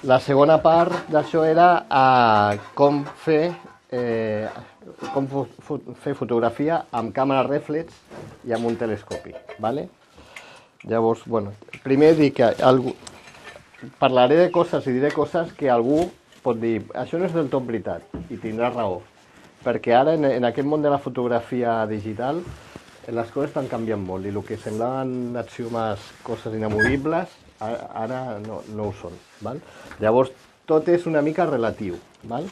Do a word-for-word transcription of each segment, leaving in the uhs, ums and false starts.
La segona part d'això era uh, com fer eh, com fo fer fotografia amb càmera rèflex i amb un telescopi, ¿vale? Llavors, bueno, primer dic que algú... parlaré de coses i diré coses que algú pot dir, això no és del tot veritat, i tindrà raó, perquè ara en, en aquest món de la fotografia digital les coses estan canviant molt i el que semblaven axiomes, coses inamovibles, ara no, no ho són. Val? Llavors, tot és una mica relatiu. Val?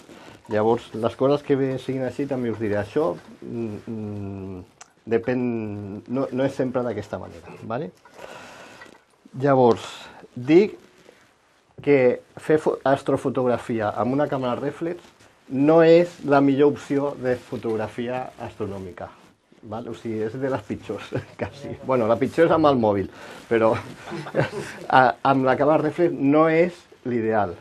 Llavors, les coses que siguin així també us diré. Això mm, depèn, no, no és sempre d'aquesta manera. Vale? Llavors, dic que fer astrofotografia amb una càmera rèflex no és la millor opció de fotografia astronòmica. Val? O sigui, és de les pitjors, quasi. Bueno, la pitjor és amb el mòbil, però a, amb la càmera rèflex no és l'ideal.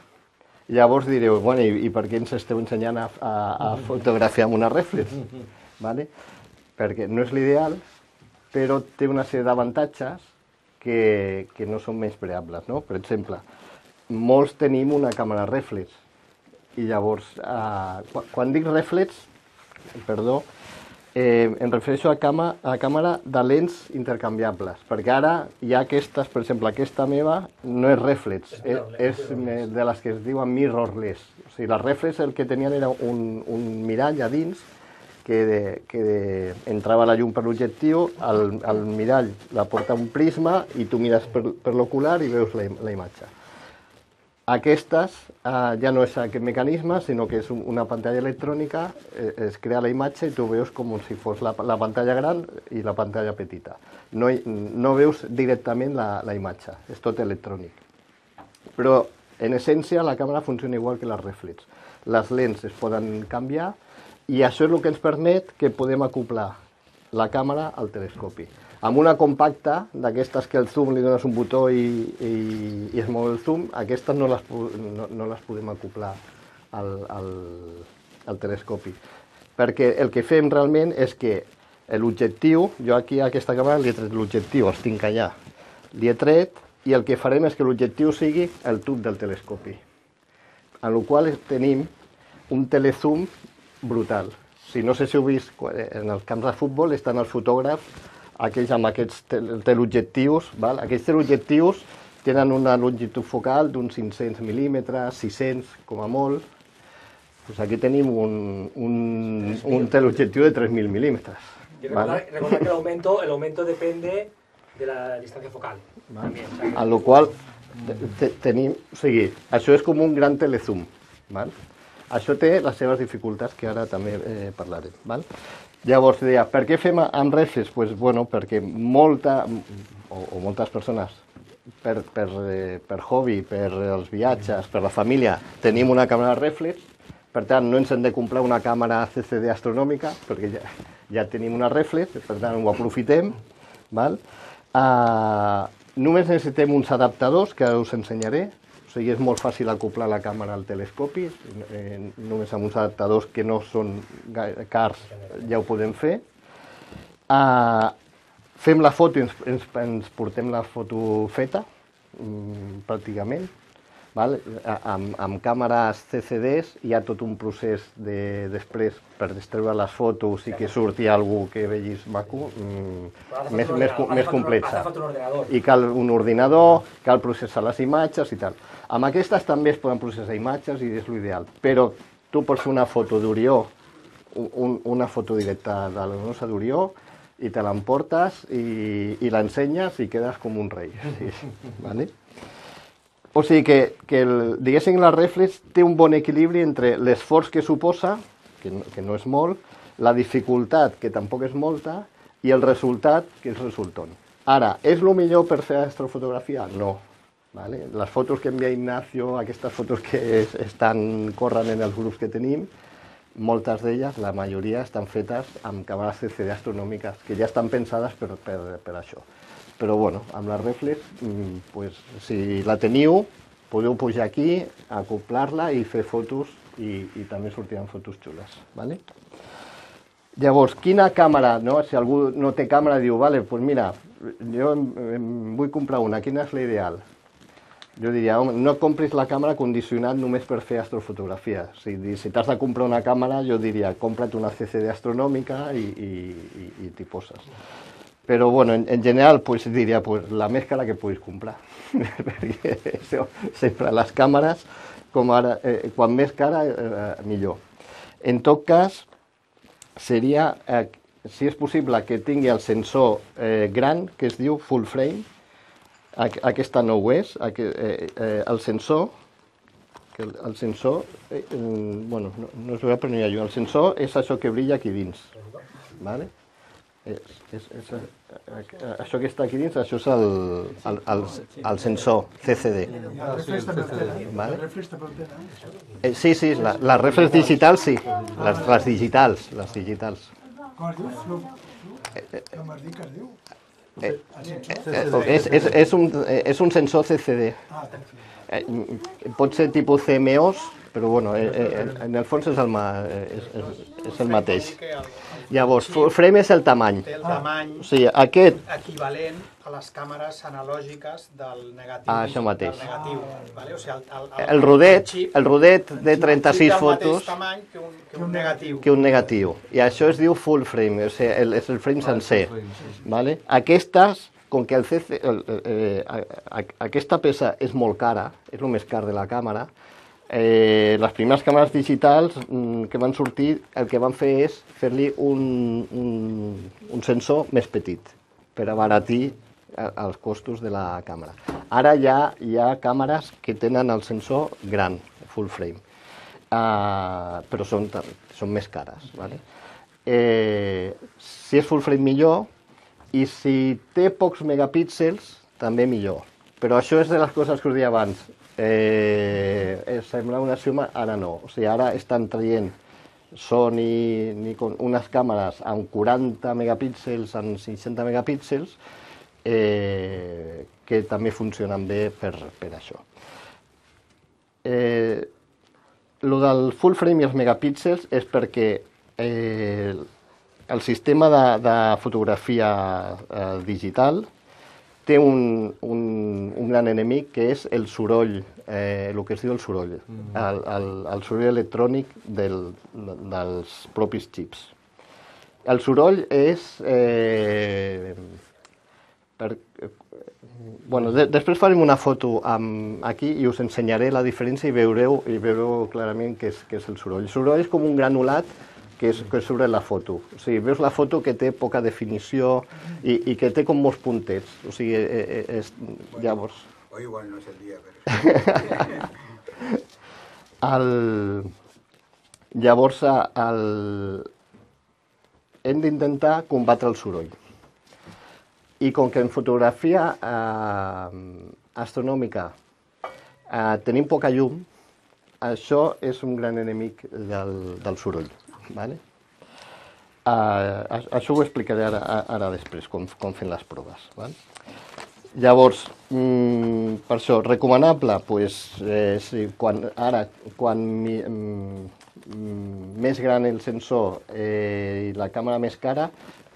Llavors direu, bueno, i, i per què ens esteu ensenyant a, a, a fotografiar amb una rèflex? Vale? Perquè no és l'ideal, però té una sèrie d'avantatges que, que no són menyspreables, no? Per exemple, molts tenim una càmera rèflex, i llavors, eh, quan, quan dic rèflex, perdó, Eh, em refereixo a, cama, a càmera de lents intercanviables, perquè ara hi ha aquestes, per exemple, aquesta meva no és rèflex, és, és de les que es diuen mirrorless. O sigui, les rèflex el que tenien era un, un mirall a dins que, de, que de, entrava la llum per l'objectiu, el, el mirall la porta un prisma i tu mires per, per l'ocular i veus la, la imatge. Aquestes eh, ja no és aquest mecanisme, sinó que és una pantalla electrònica, eh, es crea la imatge i tu veus com si fos la, la pantalla gran i la pantalla petita. No, no veus directament la, la imatge, és tot electrònic. Però, en essència, la càmera funciona igual que les rèflex. Les lents es poden canviar i això és el que ens permet que podem acoplar la càmera al telescopi. Amb una compacta, d'aquestes que al zoom li dones un botó i, i, i es mou el zoom, aquestes no les, no, no les podem acoplar al, al, al telescopi. Perquè el que fem realment és que l'objectiu, jo aquí a aquesta càmera li he tret l'objectiu, els tinc allà, li he tret i el que farem és que l'objectiu sigui el tub del telescopi. En la qual tenim un telezoom brutal. Si no sé si heu vist, en els camps de futbol estan els fotògrafs aquells amb aquests teleobjectius, val? Aquests teleobjectius tenen una longitud focal d'uns cinc-cents mil·límetres, sis-cents com a molt. Pues aquí tenim un, un, un teleobjectiu de tres mil milímetres. Recordar, ¿vale? Recordar que el aumento, el aumento depende de la distancia focal. Vale. También, o sea, a lo qual te, tenim, o sigui, això és com un gran telezoom. Val? Això té les seves dificultats que ara també eh, parlarem. Val? Llavors, deia, per què fem amb rèflex? Pues, bueno, perquè molta, o, o moltes persones, per, per, per hobby, per els viatges, per la família, tenim una càmera rèflex, per tant, no ens hem de comprar una càmera C C D astronòmica, perquè ja, ja tenim una rèflex, per tant, ho aprofitem. Val? Uh, només necessitem uns adaptadors, que us ensenyaré. O sigui, és molt fàcil acoplar la càmera al telescopi, eh, només amb uns adaptadors que no són cars ja ho podem fer. Uh, fem la foto i ens, ens, ens portem la foto feta, mm, pràcticament. Val? Amb, amb càmeres C C Ds hi ha tot un procés de, després per destreure les fotos i que surti algú que vegis maco, mm, més, més, més complexa. I cal un ordinador, cal processar les imatges i tal. Amb aquestes també es poden processar imatges i és l'ideal, però tu pots fer una foto d'Orió, un, una foto directa de la nosa d'Orió, i te l'emportes i, i l'ensenyes i quedes com un rei. Sí. Vale? O sigui que, que el, diguéssim, la rèflex té un bon equilibri entre l'esforç que suposa, que no, que no és molt, la dificultat, que tampoc és molta, i el resultat, que és resultant. Ara, és el millor per fer astrofotografia? No. Vale? Les fotos que envia Ignacio, aquestes fotos que es, estan corrent en els grups que tenim, moltes d'elles, la majoria, estan fetes amb càmeres C C D astronòmiques, que ja estan pensades per, per, per això. Però, bueno, amb la rèflex, pues, si la teniu, podeu pujar aquí, acoplar-la i fer fotos, i, i també sortiran fotos xules. Vale? Llavors, quina càmera, no? Si algú no té càmera, diu, vale, pues mira, jo em, em vull comprar una, quina és l'ideal? Jo diria, home, no compris la càmera condicionat només per fer astrofotografia. Si, si t'has de comprar una càmera, jo diria, compra't una C C D astronòmica i, i, i, i t'hi poses. Però, bueno, en, en general, pues, diria, pues, la més cara que puguis comprar. Perquè això, sempre les càmeres, com ara, eh, quan més cara, eh, millor. En tot cas, seria, eh, si és possible, que tingui el sensor eh, gran, que es diu full frame. Aquesta no ho és, eh, eh, el sensor, que el, el sensor, eh, bueno, no, no es veu però no hi ha llum, el sensor és això que brilla aquí dins, vale? És, és, és, això que està aquí dins, això és el, el, el, el sensor C C D. Vale? Eh, sí, sí, la, les reflex digitals sí, les, les digitals, les digitals. Com es diu? Com es diu que es diu? Eh, eh, és, és, és, un, és un sensor C C D. Eh, pot ser tipus C M O S, però bueno, eh, eh, en el fons és el, ma, és, és, és el mateix. Llavors, full frame és el tamany. Té el tamany o sigui, aquest... equivalent a les càmeres analògiques del negatiu. Ah, això mateix. Del negatiu, vale? O sigui, el, el, el, el rodet, el xip, el rodet de trenta-sis fotos... Té el mateix tamany que un, que un negatiu. Que un negatiu. I això es diu full frame, o sigui, el, és el frame sencer. Vale? Aquestes, com que el C C, el, eh, aquesta peça és molt cara, és el més car de la càmera, eh, les primeres càmeres digitals mm, que van sortir, el que van fer és fer-li un, un, un sensor més petit, per abaratir els costos de la càmera. Ara ja hi ha càmeres que tenen el sensor gran, full frame, uh, però són, són més cares. Vale? Eh, si és full frame millor, i si té pocs megapíxels, també millor. Però això és de les coses que us deia abans. Eh, sembla una axioma, ara no. O sigui, ara estan traient Sony, Nikon, unes càmeres amb quaranta megapíxels, amb seixanta megapíxels, eh, que també funcionen bé per, per això. Eh, lo del full frame i els megapíxels és perquè eh, el sistema de, de fotografia eh, digital té un, un, un gran enemic que és el soroll, eh, el que es diu el soroll, mm. el, el, el soroll electrònic del, dels propis xips. El soroll és... Eh, per, eh, bueno, de, després farem una foto amb, aquí i us ensenyaré la diferència i veureu, i veureu clarament què és, què és el soroll. El soroll és com un granulat que, és, que surt en la foto. O sigui, veus la foto que té poca definició i, i que té com molts puntets. O sigui, eh, eh, és, llavors... Hoy igual no és el dia, però... el... Llavors, el... hem d'intentar combatre el soroll. I com que en fotografia eh, astronòmica eh, tenim poca llum, això és un gran enemic del, del soroll. Vale? Uh, això ho explicaré ara, ara després, com, com fem les proves. Vale? Llavors, mm, per això, recomanable, pues, eh, sí, quan, ara, quan mi, mm, més gran el sensor eh, i la càmera més cara,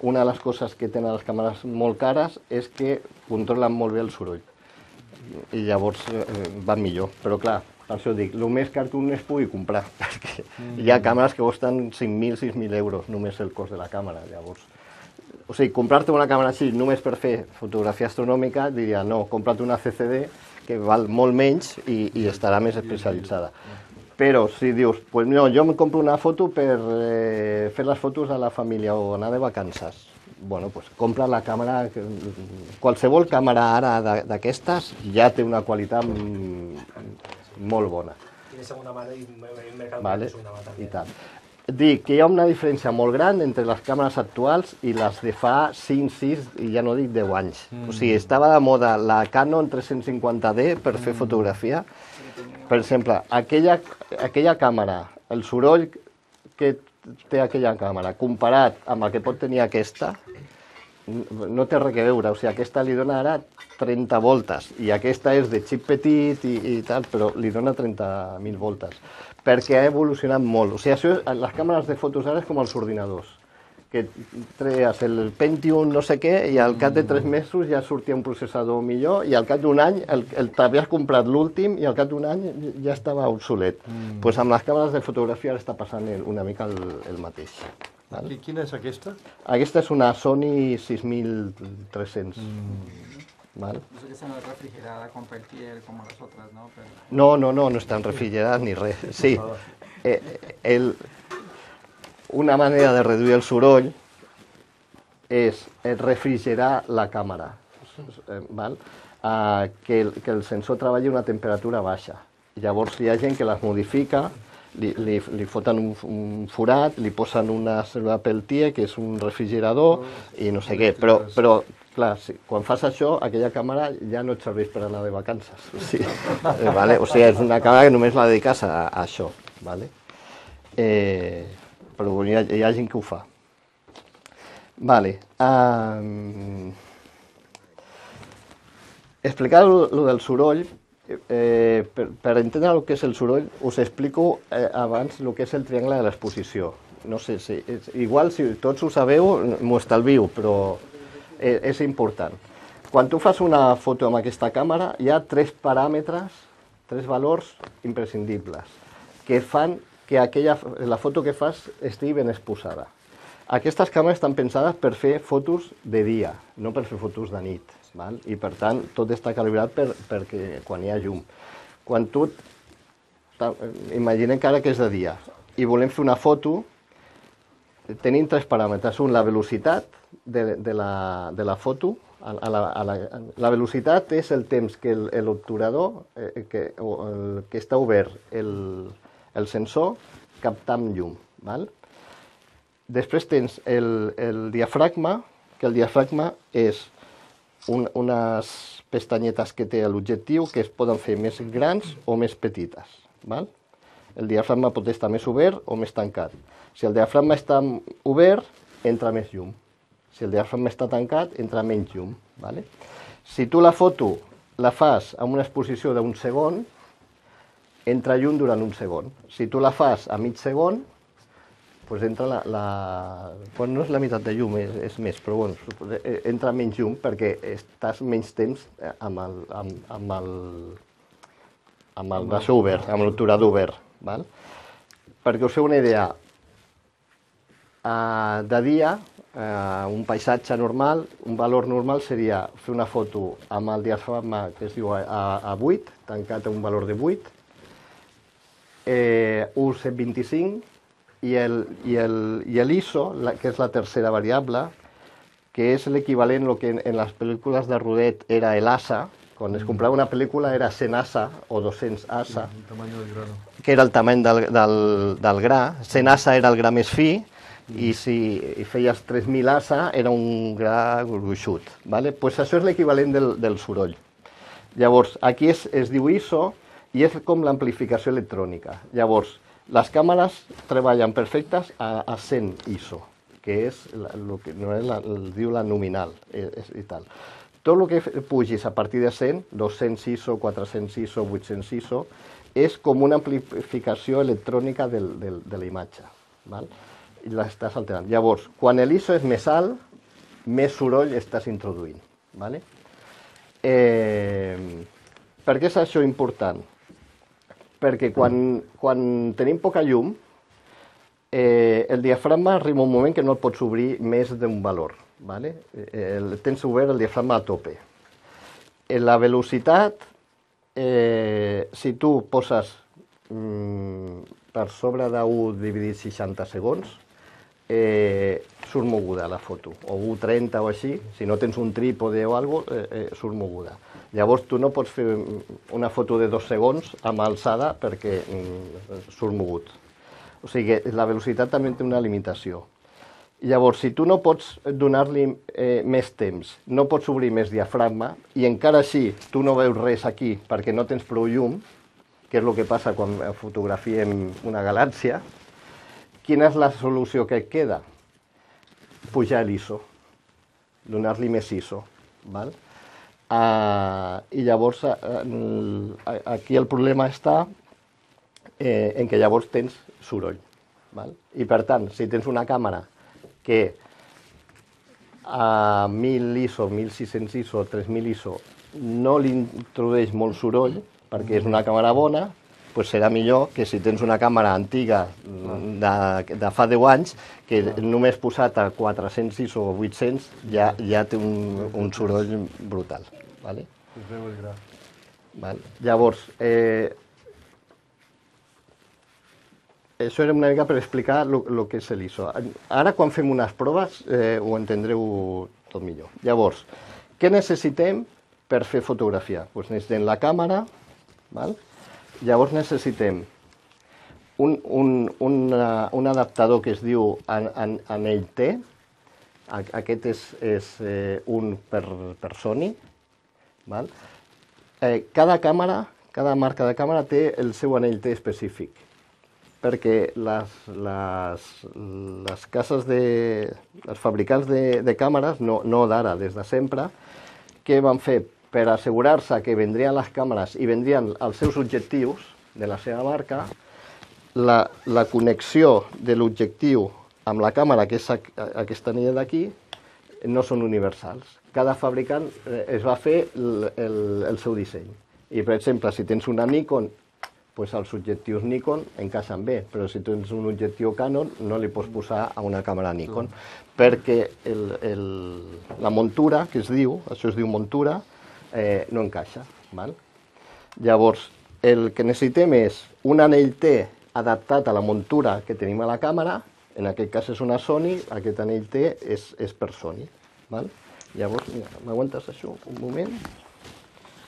una de les coses que tenen les càmeres molt cares és que controlen molt bé el soroll. I llavors eh, van millor, però clar, per això dic, el més car que un es pugui comprar, perquè mm. hi ha càmeres que costen cinc mil, sis mil euros, només el cost de la càmera, llavors. O sigui, comprar-te una càmera així només per fer fotografia astronòmica, diria, no, compra't una C C D, que val molt menys i, i estarà més especialitzada. Però si dius, pues no, jo em compro una foto per eh, fer les fotos a la família o anar de vacances, bueno, pues compra la càmera, qualsevol càmera ara d'aquestes ja té una qualitat molt bona. Tiene segunda mano y el mercado vale, de segunda mano i también. tal. Dic que hi ha una diferència molt gran entre les càmeres actuals i les de fa cinc, sis i ja no dic deu anys. Mm. O sigui, estava de moda la Canon tres-cents cinquanta D per fer fotografia. Per exemple, aquella, aquella càmera, el soroll que té aquella càmera comparat amb el que pot tenir aquesta, no té res a veure. O sigui, aquesta li dona ara trenta voltes i aquesta és de xip petit i, i tal, però li dona trenta mil voltes, perquè ha evolucionat molt. O sigui, això, les càmeres de fotos ara és com els ordinadors, que que treies el Pentium no sé què i al cap de tres mesos ja sortia un processador millor i al cap d'un any el, el, t'havies comprat l'últim i al cap d'un any ja estava obsolet. Doncs mm. pues amb les càmeres de fotografia ara està passant una mica el, el mateix. Val? I quina és aquesta? Aquesta és una Sony sis mil tres-cents. Mm. ¿Vale? Eso que está refrigerada con peltier como las otras, ¿no? Pero... No, no, no, no están refrigeradas ni res. Sí, eh, el, una manera de reduir el soroll és refrigerar la càmera, val? Uh, que, el, que el sensor treballi a una temperatura baixa. Llavors hi ha gent que les modifica, li, li, li foten un, un forat, li posen una cèl·lula peltier, que és un refrigerador, i no sé què, però, però clar, sí, quan fas això, aquella càmera ja no et serveix per anar de vacances. O sigui, eh, vale? O sigui, és una càmera que només la dediques a, a això. Vale? Eh, però bueno, hi, ha, hi ha gent que ho fa. Vale. Um, explicar lo del soroll, eh, per, per entendre el que és el soroll, us explico eh, abans el que és el triangle de l'exposició. No sé si... És, igual, si tots ho sabeu, m'ho estalvio, però... és important. Quan tu fas una foto amb aquesta càmera, hi ha tres paràmetres, tres valors imprescindibles, que fan que aquella, la foto que fas estigui ben exposada. Aquestes càmeres estan pensades per fer fotos de dia, no per fer fotos de nit. Val? I per tant, tot està calibrat per, perquè quan hi ha llum. Quan tu, imaginem que ara que és de dia, i volem fer una foto, tenim tres paràmetres. Un, la velocitat de, de, la, de la foto. A la, a la, la velocitat és el temps que l'obturador, eh, que, el, que està obert el, el sensor, capta amb llum. Val? Després tens el, el diafragma, que el diafragma és un, unes pestanyetes que té l'objectiu que es poden fer més grans o més petites. Val? El diafragma pot estar més obert o més tancat. Si el diafragma està obert, entra més llum. Si el diafragma està tancat, entra menys llum. Vale? Si tu la foto la fas amb una exposició d'un segon, entra llum durant un segon. Si tu la fas a mig segon, doncs entra la... la... Bueno, no és la meitat de llum, és, és més, però bueno, entra menys llum perquè estàs menys temps amb el, amb, amb el, amb el braç obert, amb l'obturador obert. Val? Perquè us feu una idea, Uh, de dia, uh, un paisatge normal, un valor normal seria fer una foto amb el diafragma que es diu a, a vuit, tancat a un valor de vuit, eh, U cent vint-i-cinc, i el, i el, i el I S O, la, que és la tercera variable, que és l'equivalent a lo que en, en les pel·lícules de Rodet era el A S A, quan es comprava una pel·lícula era cent A S A o dos-cents A S A, que era el tamany del, del, del gra, cent A S A era el gra més fi, i si feies tres mil A S A era un gra gruixut. Vale? Pues això és l'equivalent del, del soroll. Llavors, aquí es, es diu I S O i és com l'amplificació electrònica. Llavors, les càmeres treballen perfectes a, a cent I S O, que és el que no és la, el diu la nominal és, i tal. Tot el que pugis a partir de cent, dos-cents I S O, quatre-cents I S O, vuit-cents I S O, és com una amplificació electrònica del, del, de la imatge. Val? I l'estàs alterant. Llavors, quan l'I S O és més alt, més soroll estàs introduint. Vale? Eh, per què és això important? Perquè quan, quan tenim poca llum, eh, el diafragma arriba un moment que no el pots obrir més d'un valor. Vale? El, tens obert el diafragma a tope. En la velocitat, eh, si tu poses mm, per sobre d'un dividit seixanta segons, eh, surt moguda la foto, o u trenta o així, si no tens un trípode o alguna cosa, eh, eh, surt moguda. Llavors tu no pots fer una foto de dos segons amb alçada perquè mm, surt mogut. O sigui, la velocitat també té una limitació. Llavors, si tu no pots donar-li eh, més temps, no pots obrir més diafragma, i encara així tu no veus res aquí perquè no tens prou llum, que és el que passa quan fotografiem una galàxia, quina és la solució que et queda? Pujar l'I S O, donar-li més I S O. Val? Uh, I llavors, uh, aquí el problema està eh, en què llavors tens soroll. Val? I per tant, si tens una càmera que a mil ISO, mil sis-cents ISO, tres mil ISO, no li introdueix molt soroll, perquè és una càmera bona, doncs serà millor que si tens una càmera antiga de, de fa deu anys, que només posat a quatre-cents ISO o vuit-cents ja, ja té un, un soroll brutal. Vale? Es veu el gra. Vale. Llavors, eh, això era una mica per explicar el que és l'I S O. Ara, quan fem unes proves, eh, ho entendreu tot millor. Llavors, què necessitem per fer fotografia? Pues necessitem la càmera, val? Llavors necessitem un, un, una, un adaptador que es diu an, an, anell T. Aquest és, és eh, un per, per Sony. Val? Eh, cada càmera, cada marca de càmera té el seu anell T específic, perquè les, les, les cases de... els fabricants de, de càmeres, no, no d'ara, des de sempre, què van fer? Per assegurar-se que vendrien les càmeres i vendrien els seus objectius de la seva marca, la, la connexió de l'objectiu amb la càmera, que és aquesta anella d'aquí, no són universals. Cada fabricant es va fer el, el, el seu disseny. I, per exemple, si tens una Nikon, pues els objectius Nikon encaixen bé, però si tens un objectiu Canon no li pots posar a una càmera Nikon, perquè el, el, la muntura, que es diu, això es diu muntura, eh, no encaixa. Val? Llavors, el que necessitem és un anell T adaptat a la muntura que tenim a la càmera, en aquest cas és una Sony, aquest anell T és, és per Sony. Val? Llavors, mira, m'aguantes això un moment,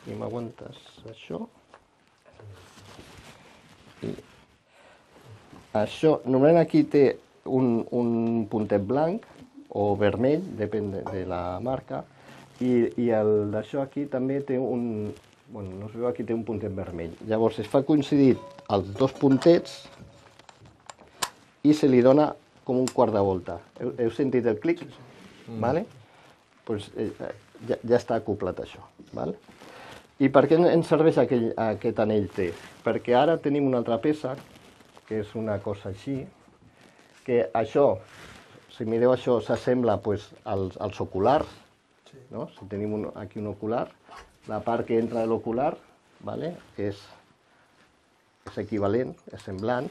i m'aguantes això. I això, normalment aquí té un, un puntet blanc o vermell, depèn de, de la marca, i, i el d'això aquí també té un, bueno, no es veu, aquí té un puntet vermell. Llavors es fa coincidir els dos puntets i se li dona com un quart de volta. Heu, heu sentit el clic? Sí, sí. Mm. Vale? Pues, eh, ja, ja està acoplat això. Vale? I per què ens serveix aquell, aquest anell T? Perquè ara tenim una altra peça, que és una cosa així, que això, si mireu això, s'assembla pues, als, als oculars, sí. No? Si tenim un, aquí un ocular, la part que entra de l'ocular, vale? és, és equivalent, és semblant,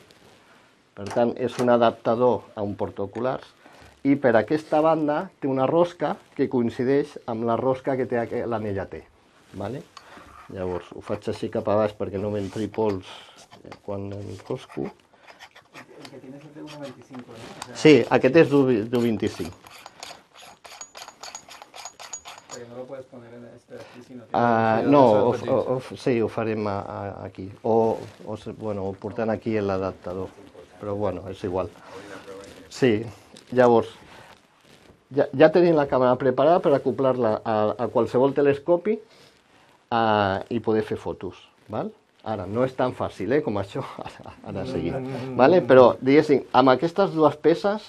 per tant, és un adaptador a un portaoculars, i per aquesta banda té una rosca que coincideix amb la rosca que té l'anella T. Vale? Llavors, ho faig així cap a baix perquè no m'entri pols quan enrosco. El que tienes es de uno veinticinco, ¿no? O sea, sí, aquest és d'u vint-i-cinc. Pero no lo puedes poner en este de aquí, sino que... Uh, no, o, o, o, sí, ho farem a, a, aquí. O, o, bueno, portant aquí l'adaptador. Però bueno, és igual. Sí, llavors, ja, ja tenim la càmera preparada per acoplar-la a, a qualsevol telescopi Uh, i poder fer fotos. Val? Ara, no és tan fàcil eh, com això, ara, ara seguim. Vale? Però, diguéssim, amb aquestes dues peces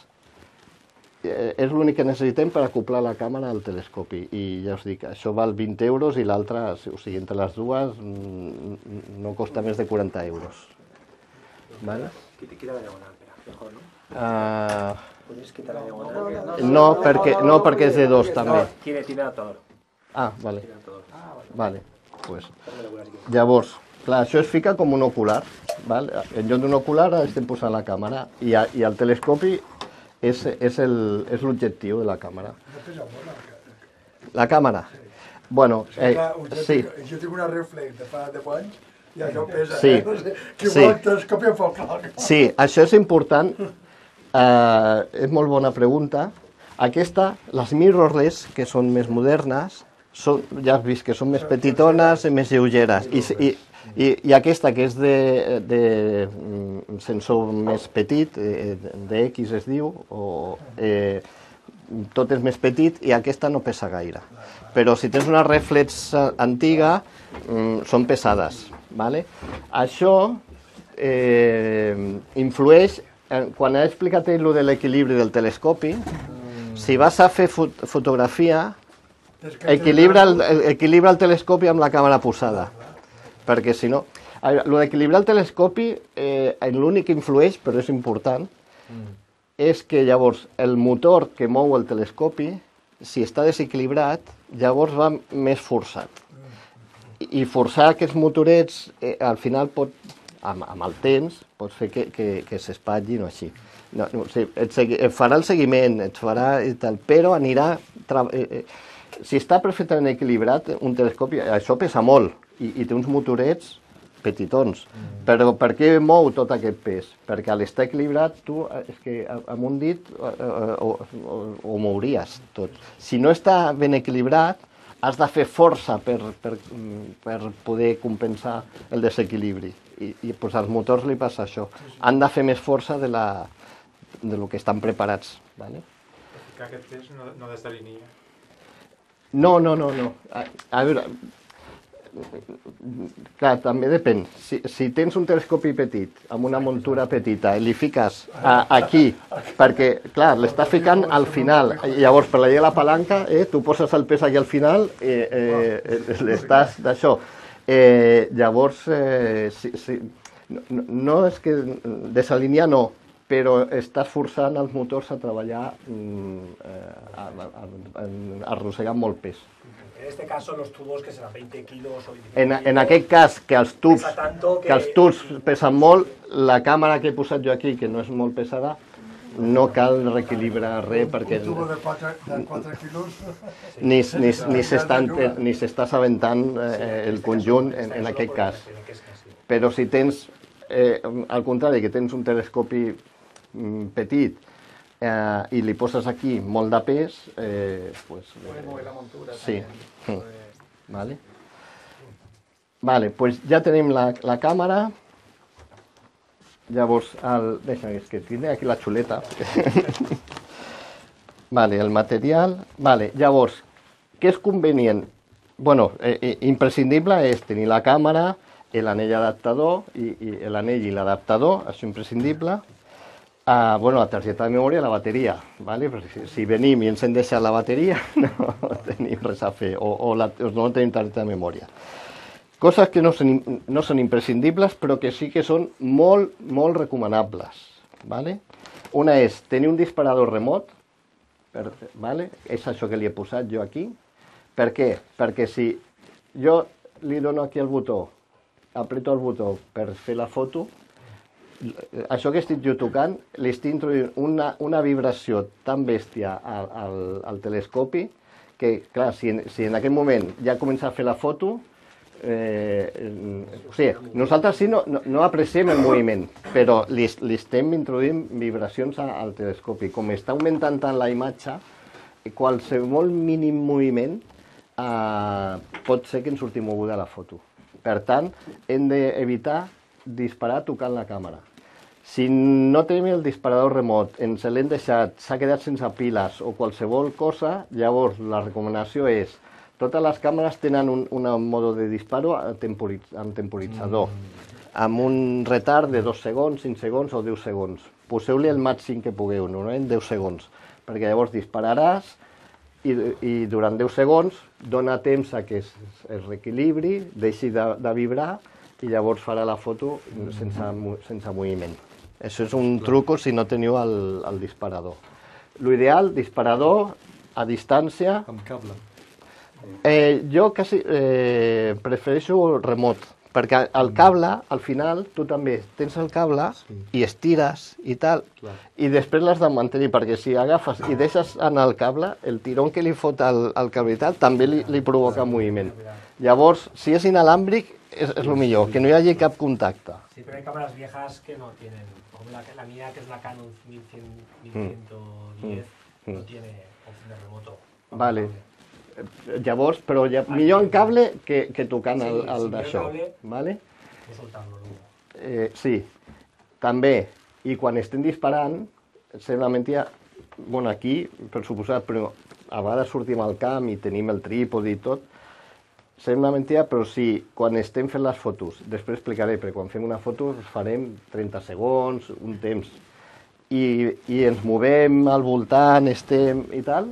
eh, és l'únic que necessitem per acoplar la càmera al telescopi. I ja us dic, això val vint euros i l'altra, o sigui, entre les dues, no costa més de quaranta euros. Vale? Quita la diagonal, espera, mejor, ¿no? Uh, Puedes quitar la diagonal. no, perquè, no, perquè és de dos, també. Tiene, tiene adaptador. Ah, vale. Tiene adaptador. Vale, pues. Llavors, clar, això es fica com un ocular. Val? En lloc d'un ocular estem posant la càmera i, a, i el telescopi és, és l'objectiu de la càmera. La càmera? Bueno, eh, sí. Jo tinc una reflex de fa deu anys i això pesa, sí. eh? No sé, que sí. vol el telescopi em fa el clar. Sí, això és important. Eh, és molt bona pregunta. Aquesta, les mirrorless, que són més modernes, són, ja has vist que són més petitones i més lleugeres. I, i, i, i aquesta, que és de, de sensor més petit, de X es diu, o, eh, tot és més petit i aquesta no pesa gaire. Però si tens una reflex antiga, mm, són pesades. Vale? Això eh, influeix, eh, quan he explicat allò de l'equilibri del telescopi, si vas a fer fot fotografia, equilibra el, equilibra el telescopi amb la càmera posada, perquè si no... El d'equilibrar el telescopi, eh, l'únic que influeix, però és important, mm. és que llavors el motor que mou el telescopi si està desequilibrat, llavors va més forçat. I forçar aquests motorets, eh, al final, pot, amb, amb el temps, pot fer que, que, que s'espatllin o així. No, no, o sigui, et, segui, et farà el seguiment, et farà i tal, però anirà... Eh, eh, si està perfectament equilibrat, un telescopi, això pesa molt, i, i té uns motorets petitons. Mm. Però per què mou tot aquest pes? Perquè al estar equilibrat, tu, és que amb un dit ho, ho, ho mouries tot. Si no està ben equilibrat, has de fer força per, per, per poder compensar el desequilibri. I, i pues, als motors li passa això. Han de fer més força de, la, de lo que estan preparats. ¿Vale? Que aquest pes no, no desalinia. No, no, no, no. A, a veure, clar, també depèn. Si, si tens un telescopi petit, amb una muntura petita, i li fiques a, aquí, perquè, clar, l'estàs ficant al final, i llavors per la llei de la palanca, eh, tu poses el pes aquí al final, eh, eh, l'estàs d'això. Eh, llavors, eh, si, si, no, no és que desalinear no, però estàs forçant els motors a treballar eh, arrossegant molt pes. En este caso, los tubos que serán veinte kilos o veinticinco En, kilos, en aquest cas, que els tubs, pesa tanto que... que els tubs pesen molt, la càmera que he posat jo aquí, que no és molt pesada, no cal reequilibrar res perquè... Un tubo de quatre quilos... Ni, ni, ni s'està assabentant eh, el conjunt en, en aquest cas. Però si tens, eh, al contrari, que tens un telescopi petit eh, i li poses aquí molt de pes, eh, pues, Puede mover la montura. sí. También. Mm. Vale. Vale, pues ja tenim la, la càmera. Llavors, el... deixa, és que tinc aquí la xuleta. Vale, el material. Vale, llavors, què és convenient? Bueno, eh, imprescindible és tenir la càmera, l'anell adaptador, i, i l'anell i l'adaptador, això imprescindible. Uh, bueno, la targeta de memòria i la bateria, ¿vale? Si, si venim i ens hem deixat la bateria, no tenim res a fer, o, o, la, o no tenim targeta de memòria. Coses que no són, no són imprescindibles, però que sí que són molt, molt recomanables, ¿vale? Una és tenir un disparador remot, per, ¿vale? És això que li he posat jo aquí. Per què? Perquè si jo li dono aquí el botó, apreto el botó per fer la foto, això que estic jo tocant, li estic introduint una, una vibració tan bèstia al, al, al telescopi que, clar, si en, si en aquell moment ja comença a fer la foto, eh, o sigui, nosaltres sí no, no, no apreciem el moviment, però li, li estem introduint vibracions al telescopi. Com està augmentant tant la imatge, qualsevol mínim moviment eh, pot ser que ens surti moguda la foto. Per tant, hem d'evitar disparar tocant la càmera. Si no tenim el disparador remot, ens l'hem deixat, s'ha quedat sense piles o qualsevol cosa, llavors la recomanació és, totes les càmeres tenen un, un mode de disparo temporitz, amb temporitzador, mm. amb un retard de dos segons, cinc segons o deu segons. Poseu-li el màxim que pugueu, normalment deu segons, perquè llavors dispararàs i, i durant deu segons dona temps a que es, es reequilibri, deixi de, de vibrar, i llavors farà la foto sense, sense moviment. Això és un truco si no teniu el, el disparador. L'ideal, disparador a distància... Amb cable. Eh, jo quasi eh, prefereixo remot, perquè el cable, al final, tu també tens el cable sí. i estires i tal, clar. I després l'has de mantenir, perquè si agafes i deixes anar el cable, el tirón que li fot al, al cable i tal, també li, li provoca moviment. Llavors, si és inalàmbric, es, es lo millor, que no hi hagi cap contacte. Sí, pero hay cámaras viejas que no tienen, como la, la mía que es la Canon mil cien, mil ciento diez, mm. no tiene opción de remoto. Vale. Llavors, però ja, millor en cable que, que tocant el, el sí, d'això. Vale? Eh, sí, també, i quan estem disparant, sembla mentida, bueno, aquí, per suposat, però a vegades sortim al camp i tenim el trípode i tot, sembla mentida, però sí, quan estem fent les fotos, després explicaré, perquè quan fem una foto farem trenta segons, un temps, i, i ens movem al voltant, estem i tal,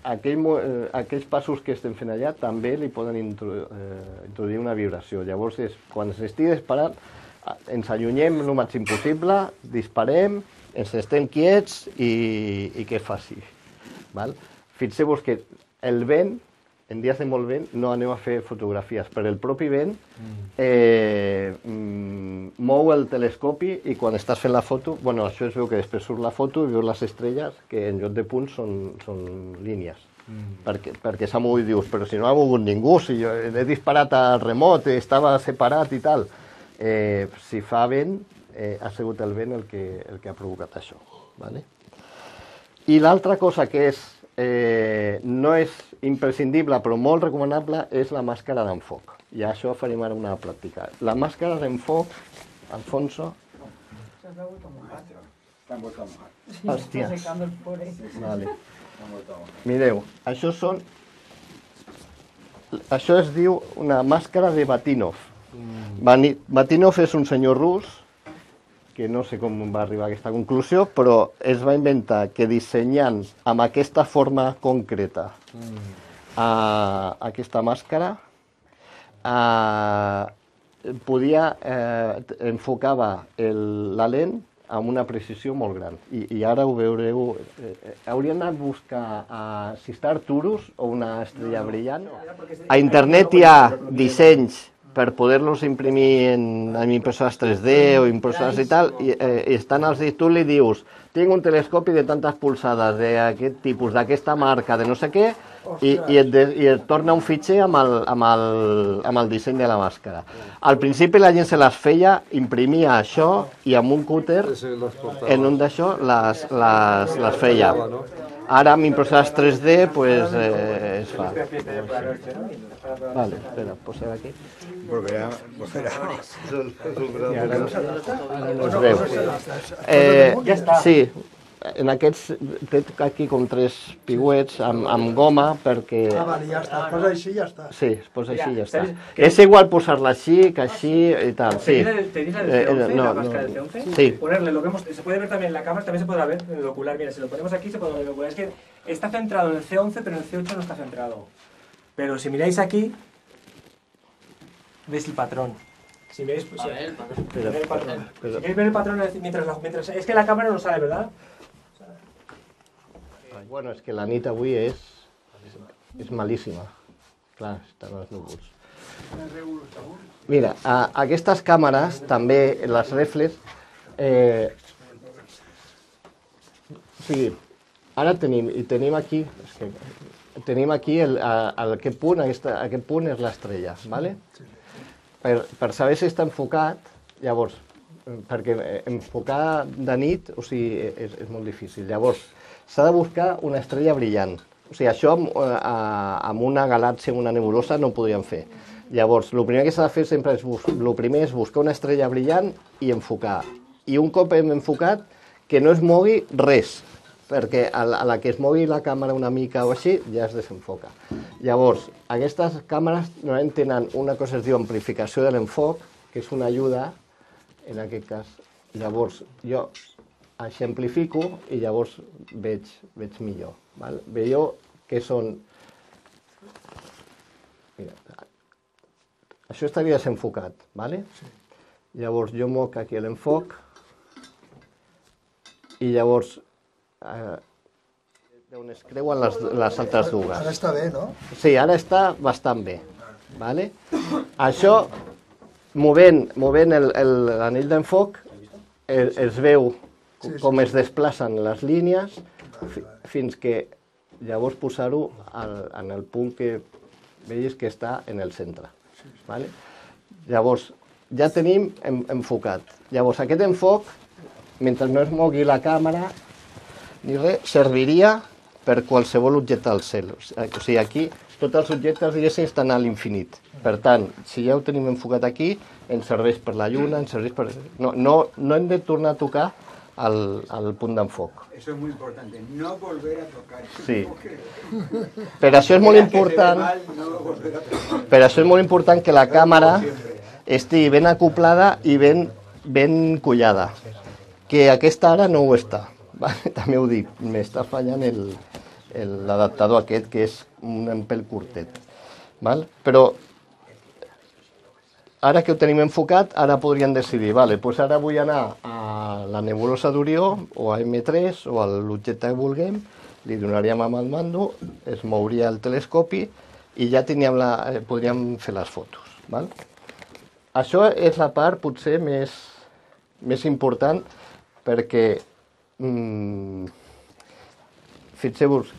aquell, eh, aquells passos que estem fent allà també li poden introdu eh, introduir una vibració. Llavors, és, quan s'estigui disparant, ens allunyem el màxim possible, disparem, ens estem quiets i, i que faci. Val? fixeu-vos que el vent, en dies de molt vent, no aneu a fer fotografies, però el propi vent eh, mm, mou el telescopi i quan estàs fent la foto, bueno, això es veu que després surt la foto i veus les estrelles que en lloc de punts són, són línies. Mm. Perquè, perquè s'ha mogut, dius, però si no ha mogut ningú, si jo he disparat al remot, estava separat i tal. Eh, si fa vent, eh, ha sigut el vent el que, el que ha provocat això. Vale? I l'altra cosa que és, eh, no és imprescindible però molt recomanable és la màscara d'enfoc. I això farem ara una pràctica. La màscara d'enfoc, Alfonso... Hòsties. Vale. Mireu, això són... Això es diu una màscara de Batinov. Batinov és un senyor rus que no sé com va arribar a aquesta conclusió, però es va inventar que dissenyant amb aquesta forma concreta a, aquesta màscara a, podia, eh, enfocava el, la lent amb una precisió molt gran. I, i ara ho veureu. Eh, hauria anat a buscar a, si està Arcturus o una estrella brillant. A internet hi ha dissenys per poder-los imprimir en, en impressores tres D o impressores i tal, i eh, estan als dits, tu li dius, tinc un telescopi de tantes polsades, d'aquest tipus, d'aquesta marca, de no sé què, i, i, et de, i et torna un fitxer amb el, amb, el, amb el disseny de la màscara. Al principi la gent se les feia, imprimia això i amb un cúter, en un d'això, les, les, les feia. Ara amb impressores tres D pues, eh, es fa. Vale, espera, posem aquí. Volverá, volverá. I ara no, ara no es veu. Eh, ja està. Sí, en aquests té aquí com tres pigüets amb, amb goma perquè... Ah, vale, ja està. Es posa així i ja està. Sí, es posa així i ja està. És igual posar-la així que així i tal. Sí. ¿Te dice el C once, Eh, no, la máscara no. del C once? Sí. Ponerle lo que hemos, se puede ver también en la cámara, también se podrá ver en el ocular. Mira, si lo ponemos aquí se puede ver en el ocular. Es que está centrado en el C once, pero en el C ocho no está centrado. Pero si miráis aquí, veis el patrón. Si veis, pues, sí, Pero, el patrón. pero- Si queréis ver el patrón mientras, la- mientras... Es que la cámara no sale, ¿verdad? Bueno, és que la nit avui és, és malíssima. Clar, estan els núvols. Mira, a, aquestes càmeres, també les reflex, eh, o sigui, ara tenim, i tenim aquí, és que, tenim aquí el, a, a aquest punt, aquesta, aquest punt és l'estrella, ¿vale? Per, per saber si està enfocat, llavors, perquè enfocar de nit, o sigui, és, és molt difícil. Llavors, s'ha de buscar una estrella brillant. O sigui, això amb, amb una galàxia, amb una nebulosa, no ho podríem fer. Llavors, el primer que s'ha de fer sempre és, el primer és buscar una estrella brillant i enfocar. I un cop hem enfocat, que no es mogui res, perquè a la, a la que es mogui la càmera una mica o així, ja es desenfoca. Llavors, aquestes càmeres normalment tenen una cosa que es diu amplificació de l'enfoc, que és una ajuda, en aquest cas. Llavors, jo eixamplifico i llavors veig, veig millor. Val? Veieu que són... Mira, això estaria desenfocat, ¿vale? Sí. Llavors jo moc aquí l'enfoc i llavors eh, on es creuen les, les altres dues. Ara està bé, no? Sí, ara està bastant bé. ¿Vale? Això, movent, movent l'anell d'enfoc, es, es veu Sí, sí, com sí. es desplacen les línies fi, fins que llavors posar-ho en el punt que veus que està en el centre. ¿Vale? Llavors, ja tenim en, enfocat. Llavors, aquest enfoc, mentre no es mogui la càmera, ni res, serviria per qualsevol objecte al cel. O sigui, aquí tots els objectes, diguéssim, estan a l'infinit. Per tant, si ja ho tenim enfocat aquí, ens serveix per la lluna, ens serveix per... No, no, no hem de tornar a tocar al, al punt d'enfoc. Eso es muy importante, no volver a tocar. Sí. Per això és molt important... Per això és molt important que la càmera estigui ben acoplada i ben, ben collada. Que aquesta ara no ho està. Vale? També ho dic, m'està fallant l'adaptador aquest, que és un pèl curtet. Val? Però ara que ho tenim enfocat, ara podríem decidir, vale, doncs ara vull anar a la nebulosa d'Orió, o a eme tres, o a l'objecte que vulguem, li donaríem amb el mando, es mouria el telescopi i ja teníem la, eh, podríem fer les fotos. Val? Això és la part potser més, més important perquè mm, fixeu-vos,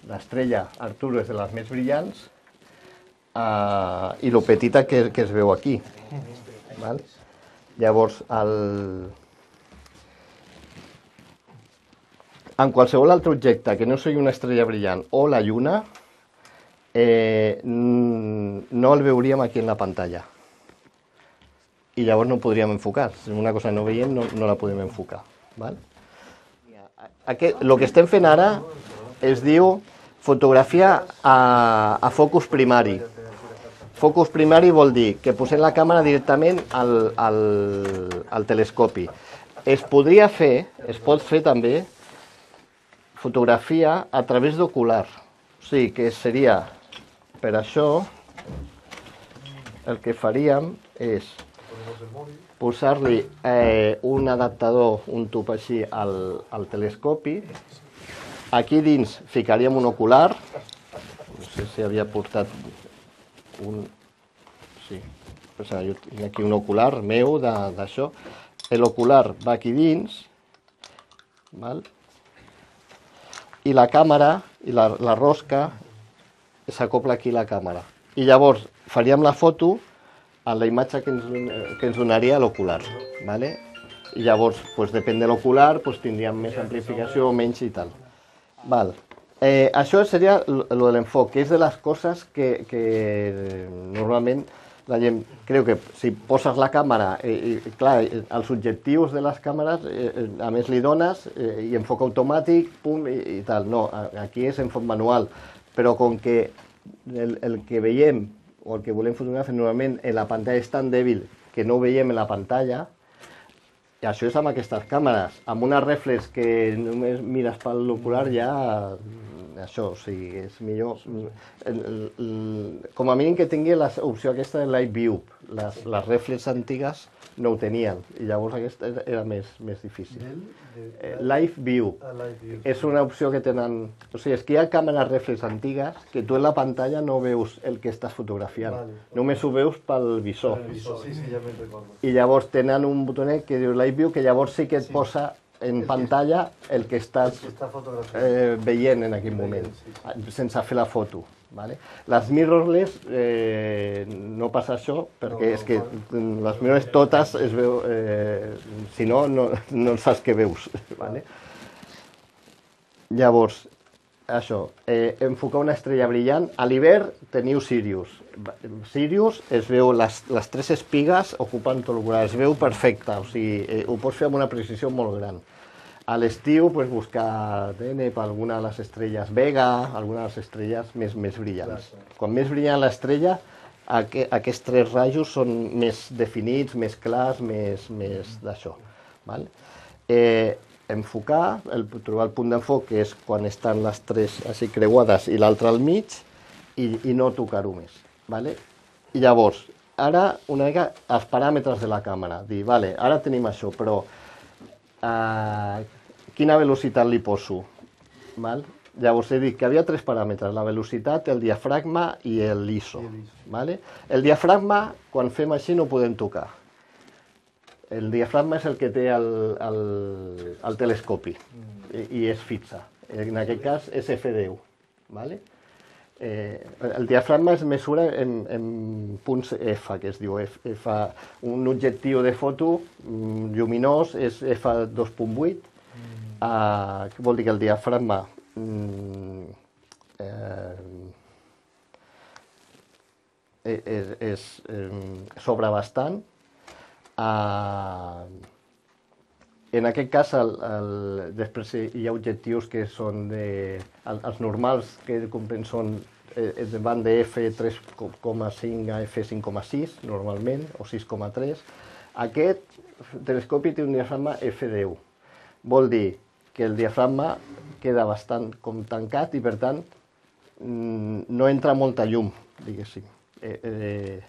l'estrella Arturo és de les més brillants uh, i lo petita que, que es veu aquí. Val? Llavors, el... en qualsevol altre objecte que no sigui una estrella brillant o la lluna, eh, no el veuríem aquí en la pantalla. I llavors no podríem enfocar. Si una cosa no veiem, no, no la podem enfocar. Val? Aquest, el que estem fent ara es diu fotografia a, a focus primari. Focus primari vol dir que posem la càmera directament al, al, al telescopi. Es podria fer, es pot fer també, fotografia a través d'ocular. O sigui, que seria, per això, el que faríem és posar-li eh, un adaptador, un tub així, al, al telescopi. Aquí dins ficaríem un ocular. No sé si havia portat un... Sí, o sigui, jo tinc aquí un ocular meu d'això. L'ocular va aquí dins, val? I la càmera, i la, la rosca, s'acopla aquí la càmera. I llavors faríem la foto a la imatge que ens, que ens donaria l'ocular. ¿Vale? I llavors, pues, depèn de l'ocular, pues, tindríem més amplificació o menys i tal. Val. Eh, això seria lo de l'enfoc, que és de les coses que, que normalment la gent creu que si poses la càmera, eh, i, clar, els objectius de les càmeres, eh, a més li dones eh, i enfoc automàtic, pum, i, i tal. No, aquí és enfoc manual, però com que el, el que veiem o el que volem fotografiar normalment en la pantalla és tan dèbil que no ho veiem en la pantalla, i això és amb aquestes càmeres. Amb una reflex que només mires pel ocular ja... això, o sigui, és millor... El, el, el, com a mínim que tingui l'opció aquesta de Live View. Les, les reflex antigues no ho tenien, i llavors aquesta era, era més, més difícil. Eh, Live View és una opció que tenen... O sigui, és que hi ha càmeres reflex antigues que tu en la pantalla no veus el que estàs fotografiant. Vale. Només ho veus pel visor. El visor, sí, sí, ja me'n recordo. I llavors tenen un botonet que diu Live View, que llavors sí que et sí. posa en pantalla el que estàs eh, veient en aquell moment, sense fer la foto. Vale? Les mirrorless eh, no passa això, perquè és que les mirrorless totes es veu, eh, si no, no, no saps què veus. Vale? Llavors, això, eh, enfocar una estrella brillant. A l'hivern teniu Sirius. Sirius es veu les, les tres espigues ocupant tot l'ocular, es veu perfecte, o sigui, eh, ho pots fer amb una precisió molt gran. A l'estiu, pues, buscar D N per alguna de les estrelles Vega, alguna de les estrelles més, més brillants. Quan més brillant l'estrella, aqu aquests tres rajos són més definits, més clars, més, més d'això. Val? Eh, enfocar, el, trobar el punt d'enfoc, que és quan estan les tres així creuades i l'altre al mig, i, i no tocar-ho més. Vale? I llavors, ara una mica els paràmetres de la càmera. Dir, vale, ara tenim això, però uh, quina velocitat li poso? Val? Llavors he dit que havia tres paràmetres, la velocitat, el diafragma i l'I S O. Vale? El diafragma, quan fem així, no ho podem tocar. El diafragma és el que té el, el, el telescopi i, i és fixa. En aquest cas és F deu. Vale? Eh, el diafragma es mesura en, en punts F, que es diu F, F. Un objectiu de foto mm, lluminós és F dos punt vuit, mm. uh, que vol dir que el diafragma mm, eh, és, és, eh, sobra bastant. Uh, en aquest cas, el, el, després hi ha objectius que són de, el, els normals que són eh, van de F tres coma cinc a F cinc coma sis normalment, o sis coma tres. Aquest telescopi té un diafragma F deu. Vol dir que el diafragma queda bastant com tancat i, per tant, no entra molta llum, diguéssim. Eh, eh,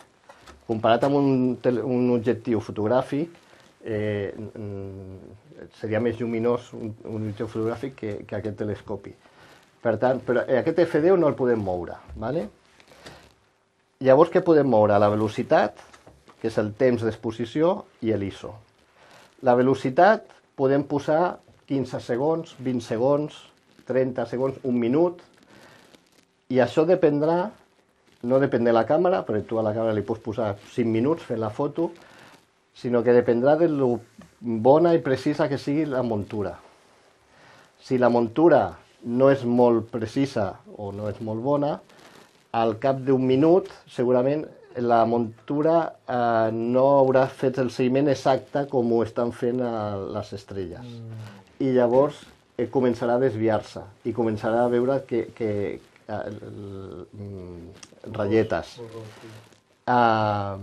comparat amb un, un objectiu fotogràfic, eh, mm, seria més lluminós un, un horitzó fotogràfic que, que aquest telescopi. Per tant, però aquest F deu no el podem moure, ¿vale? Llavors, què podem moure? La velocitat, que és el temps d'exposició, i l'I S O. La velocitat podem posar quinze segons, vint segons, trenta segons, un minut, i això dependrà, no depèn de la càmera, perquè tu a la càmera li pots posar cinc minuts fent la foto, sinó que dependrà de lo bona i precisa que sigui la muntura. Si la muntura no és molt precisa o no és molt bona, al cap d'un minut segurament la muntura eh, no haurà fet el seguiment exacte com ho estan fent a les estrelles. Mm. I llavors eh, començarà a desviar-se i començarà a veure que, que eh, mm, ratlletes. Uh,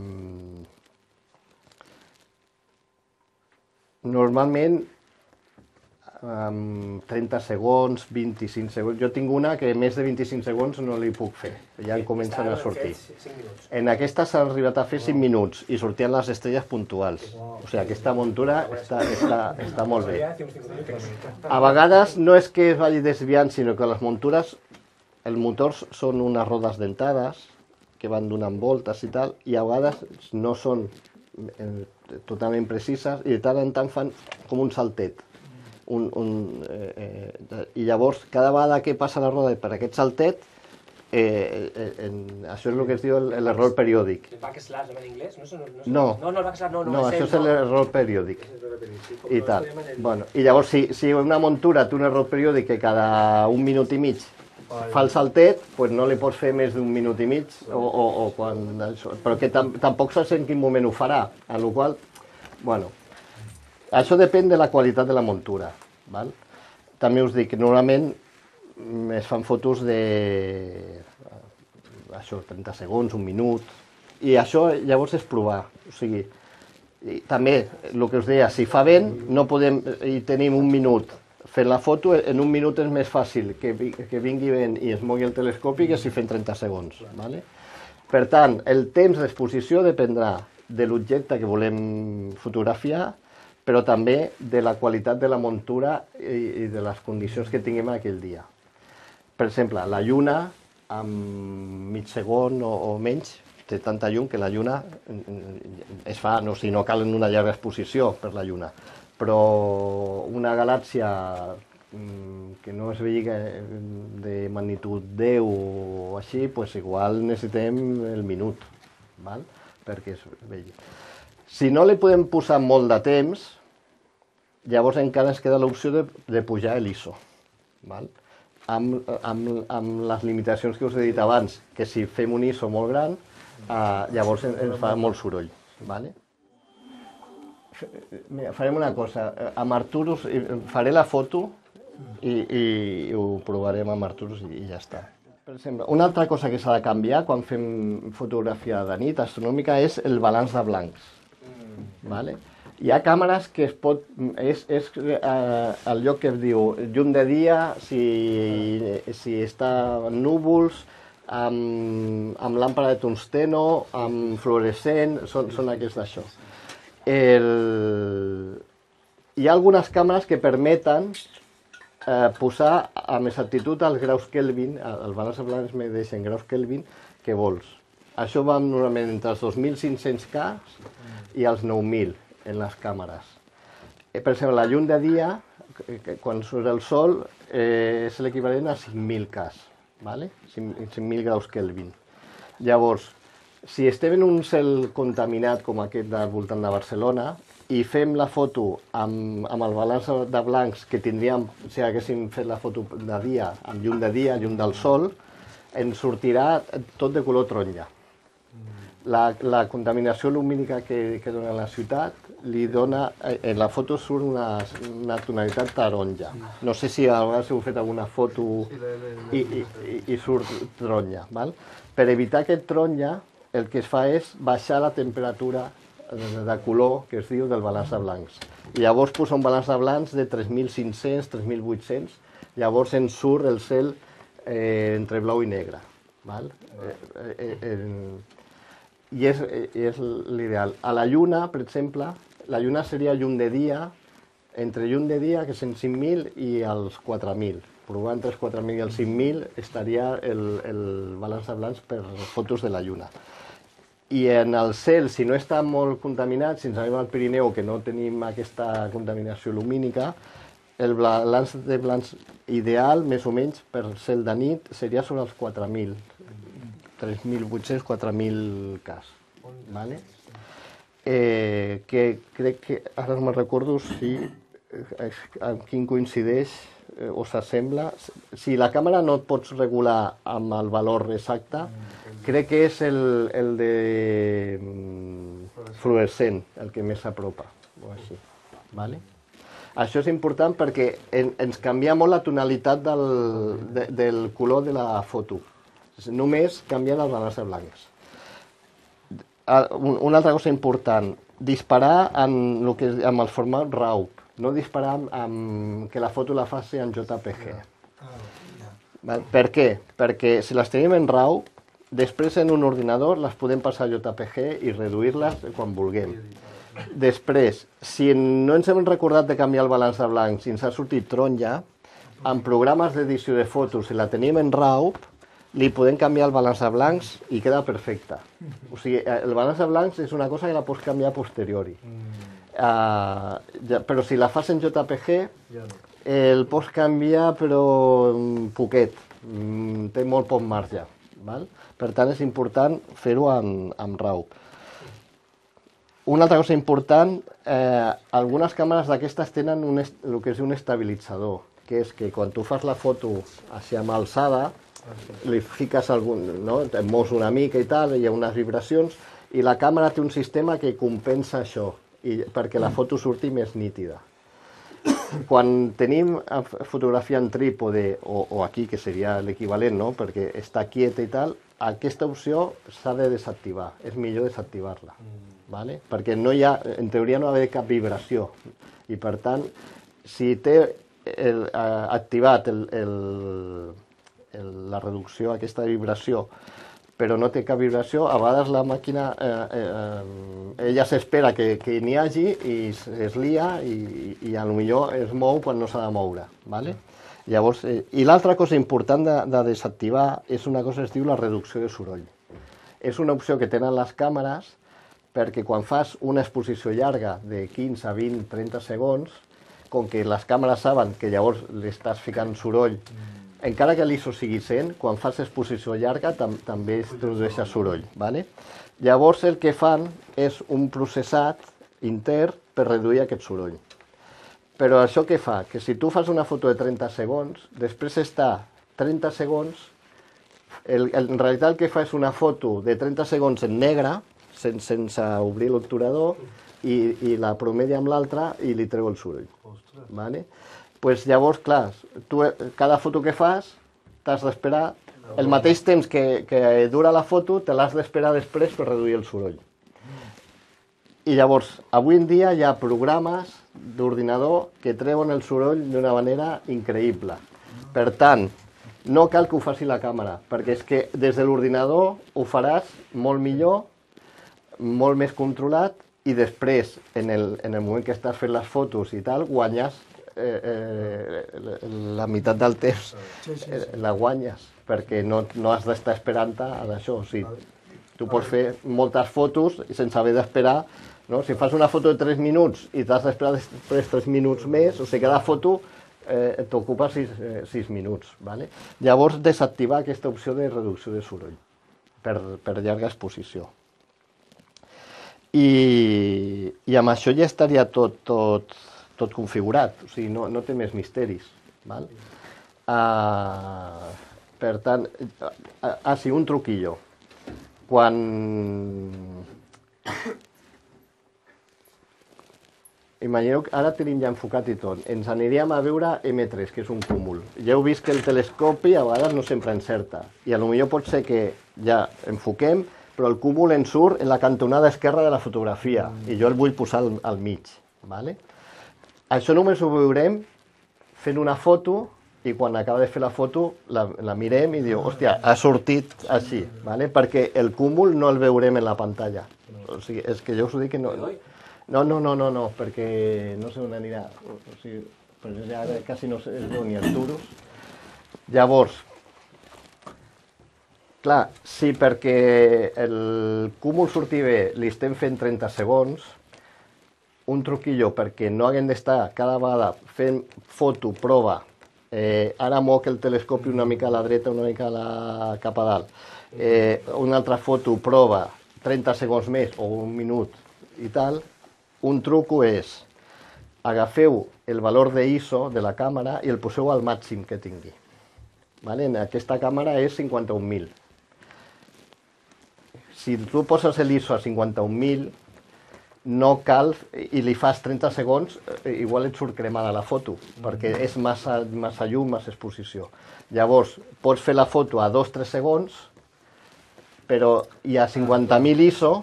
normalment um, trenta segons, vint-i-cinc segons. Jo tinc una que més de vint-i-cinc segons no li puc fer, ja en comencen a sortir. En aquesta s'ha arribat a fer cinc minuts i sortien les estrelles puntuals. O sigui, aquesta muntura està, està, està molt bé. A vegades no és que es vagi desviant, sinó que les muntures, els motors són unes rodes dentades que van donant voltes i tal, i a vegades no són eh, totalment precises i de tant en tant fan com un saltet. Un, un, eh, eh, I llavors, cada vegada que passa la roda per aquest saltet, eh, eh, en, això és el que es diu l'error periòdic. El backslash en anglès? No, no, no, no, no, el backslash no, no, no, això és l'error periòdic. I tal. el... Bueno, i llavors, si, si una muntura té un error periòdic que cada un minut i mig fa el saltet, pues no li pots fer més d'un minut i mig, o, o, o quan, això, però que tam, tampoc saps en quin moment ho farà, a la qual, bueno, això depèn de la qualitat de la muntura, val? També us dic que normalment es fan fotos de, això, trenta segons, un minut, i això llavors és provar, o sigui, i també, el que us deia, si fa vent, no podem, i tenim un minut fent la foto, en un minut és més fàcil que, que vingui vent i es mogui el telescopi que si fem trenta segons. ¿Vale? Per tant, el temps d'exposició dependrà de l'objecte que volem fotografiar, però també de la qualitat de la muntura i, i de les condicions que tinguem aquell dia. Per exemple, la lluna, amb mig segon o, o menys, té tanta llum que la lluna es fa, no, si no cal una llarga exposició per la lluna, però una galàxia que no es vegi de magnitud deu o així, pues igual necessitem el minut, val? Perquè es vegi. Si no li podem posar molt de temps, llavors encara ens queda l'opció de, de pujar l'I S O, val? Amb, amb, amb les limitacions que us he dit abans, que si fem un I S O molt gran, eh, llavors ens fa molt soroll. Vale? Mira, farem una cosa, amb Arturus faré la foto i, i ho provarem amb Arturus i ja està. Per exemple, una altra cosa que s'ha de canviar quan fem fotografia de nit astronòmica és el balanç de blancs. Vale? Hi ha càmeres que es pot, és, és eh, el lloc que es diu llum de dia, si, si està en núvols, amb, amb làmpada de tungsteno, amb fluorescent, són, són aquests d'això. El... Hi ha algunes càmeres que permeten eh, posar amb exactitud els graus Kelvin, el balanç de blancs medeix en graus Kelvin, que vols. Això va normalment entre els dos mil cinc-cents K i els nou mil en les càmeres. Eh, per exemple, la llum de dia, quan surt el sol, eh, és l'equivalent a cinc mil K, ¿vale? cinc mil graus Kelvin. Llavors, si estem en un cel contaminat com aquest del voltant de Barcelona i fem la foto amb, amb el balanç de blancs que tindríem si haguéssim fet la foto de dia, amb llum de dia, llum del sol, ens sortirà tot de color taronja. La, la contaminació lumínica que, que dona la ciutat li dona, en la foto surt una, una tonalitat taronja. No sé si a vegades heu fet alguna foto i, i, i, i surt taronja. Val? Per evitar aquest taronja, el que es fa és baixar la temperatura de color que es diu del balanç de blancs. I llavors posa un balanç de blancs de tres mil cinc-cents, tres mil vuit-cents, llavors ens surt el cel eh, entre blau i negre. Val? Eh, eh, eh, I és, és l'ideal. A la lluna, per exemple, la lluna seria llum de dia, entre llum de dia, que són cinc mil, i els quatre mil. Provant entre els quatre mil i els cinc mil estaria el, el balanç de blancs per fotos de la lluna. I en el cel, si no està molt contaminat, si ens anem al Pirineu, que no tenim aquesta contaminació lumínica, el balanç de blancs ideal, més o menys, per cel de nit, seria sobre els quatre mil. tres mil vuit-cents, quatre mil cas. Vale? Eh, que crec que, ara no me'n recordo si eh, amb quin coincideix eh, o s'assembla. Si la càmera no et pots regular amb el valor exacte, crec que és el, el de mm, fluorescent, el que més s'apropa, o així. Vale? Això és important perquè en, ens canvia molt la tonalitat del, de, del color de la foto. Només canvien els balances blancs. Una altra cosa important, disparar en el que, amb el format RAW, no disparar amb, amb que la foto la faci en J P G. Val? Per què? Perquè si les tenim en RAW, després en un ordinador les podem passar a J P G i reduir-les quan vulguem. Després, si no ens hem recordat de canviar el balanç de blancs i ens ha sortit taronja, en programes d'edició de fotos, si la tenim en RAW, li podem canviar el balanç de blancs i queda perfecte. O sigui, el balanç de blancs és una cosa que la pots canviar a posteriori. Uh, ja, però si la fas en J P G, el pots canviar però poquet. Mm, té molt poc marge. Val? Per tant, és important fer-ho amb, amb RAW. Una altra cosa important, eh, algunes càmeres d'aquestes tenen un est el que és un estabilitzador, que és que quan tu fas la foto així amb alçada, li fiques algun, no? Et mous una mica i tal, hi ha unes vibracions, i la càmera té un sistema que compensa això, i, perquè la foto surti més nítida. Quan tenim fotografia en trípode, o, o aquí, que seria l'equivalent, no? Perquè està quieta i tal, aquesta opció s'ha de desactivar, és millor desactivar-la, vale? Perquè no hi ha, en teoria no ha d'haver cap vibració, i per tant, si té el, eh, activat el, el la reducció, aquesta vibració, però no té cap vibració, a vegades la màquina, eh, eh, ella s'espera que, que n'hi hagi i es lia i, i a lo millor es mou quan no s'ha de moure. Vale? Llavors, eh, i l'altra cosa important de, de desactivar és una cosa que es diu la reducció de soroll. És una opció que tenen les càmeres perquè quan fas una exposició llarga de quinze, vint, trenta segons, com que les càmeres saben que llavors li estàs ficant soroll, encara que l'I S O sigui cent, quan fas exposició llarga tam també es produeix soroll. Vale? Llavors el que fan és un processat intern per reduir aquest soroll. Però això què fa? Que si tu fas una foto de trenta segons, després està trenta segons, el, el, en realitat el que fa és una foto de trenta segons en negre, sen, sense obrir l'obturador, i, i la promedia amb l'altra i li treu el soroll. Vale? Pues llavors, clar, tu cada foto que fas t'has d'esperar el mateix temps que, que dura la foto, te l'has d'esperar després per reduir el soroll. I llavors, avui en dia hi ha programes d'ordinador que treuen el soroll d'una manera increïble. Per tant, no cal que ho faci la càmera, perquè és que des de l'ordinador ho faràs molt millor, molt més controlat, i després, en el, en el moment que estàs fent les fotos i tal, guanyes Eh, eh, la meitat del temps eh, la guanyes, perquè no, no has d'estar esperant a això. O sigui, tu pots fer moltes fotos sense haver d'esperar, no? Si fas una foto de tres minuts i t'has d'esperar després tres minuts més, o sigui, cada foto eh, t'ocupa sis, eh, sis minuts. Vale? Llavors, desactivar aquesta opció de reducció de soroll per, per llarga exposició. I, i amb això ja estaria tot, tot tot configurat, o sigui, no, no té més misteris. Val? Uh, per tant, uh, ah, sí, un truquillo. Quan... Imagineu que ara tenim ja enfocat i tot. Ens aniríem a veure eme tres, que és un cúmul. Ja heu vist que el telescopi a vegades no sempre encerta. I a lo millor pot ser que ja enfoquem, però el cúmul en surt en la cantonada esquerra de la fotografia. I jo el vull posar al, al mig. Vale? Això només ho veurem fent una foto i quan acaba de fer la foto la, la mirem i diu, hòstia, ha sortit així, ¿vale? Perquè el cúmul no el veurem en la pantalla. O sigui, és que jo us ho dic que no, No, no, no, no, no, perquè no sé on anirà. O sigui, però ja quasi no es veu ni els duros. Llavors, clar, si perquè el cúmul surti bé li estem fent trenta segons, un truquillo perquè no haguem d'estar cada vegada fent foto, prova, eh, ara moc el telescopi una mica a la dreta, una mica a la, cap a dalt, eh, una altra foto, prova, trenta segons més o un minut i tal, un truco és agafeu el valor de I S O de la càmera i el poseu al màxim que tingui. Vale? En aquesta càmera és cinquanta-un mil. Si tu poses l'I S O a cinquanta-un mil, no cal, i li fas trenta segons, igual et surt cremada la foto, perquè és massa, massa llum, massa exposició. Llavors, pots fer la foto a dos o tres segons, però hi ha cinquanta mil I S O,